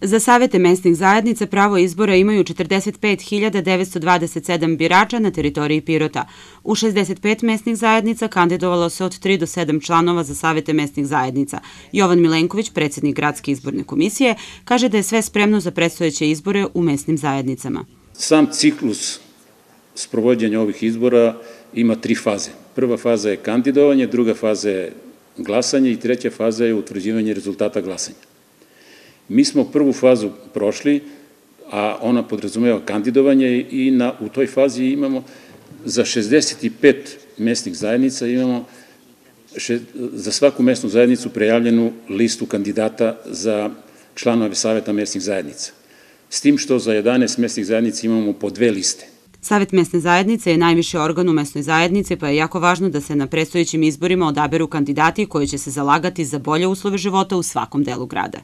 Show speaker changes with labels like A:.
A: Za savete mesnih zajednica pravo izbora imaju 45.927 birača na teritoriji Pirota. U 65 mesnih zajednica kandidovalo se od 3 do 7 članova za savete mesnih zajednica. Jovan Milenković, predsjednik Gradske izborne komisije, kaže da je sve spremno za predstojeće izbore u mesnim zajednicama.
B: Sam ciklus sprovođenja ovih izbora ima 3 faze. Prva faza je kandidovanje, druga faza je glasanje i treća faza je utvrđivanje rezultata glasanja. Mi smo prvu fazu prošli, a ona podrazumeva kandidovanje i u toj fazi imamo za 65 mesnih zajednica imamo za svaku mesnu zajednicu prejavljenu listu kandidata za članove saveta mesnih zajednica. S tim što za 11 mesnih zajednica imamo po 2 liste.
A: Savet mesne zajednice je najviši organ u mesnoj zajednici, pa je jako važno da se na predstojećim izborima odaberu kandidati koji će se zalagati za bolje uslove života u svakom delu grada.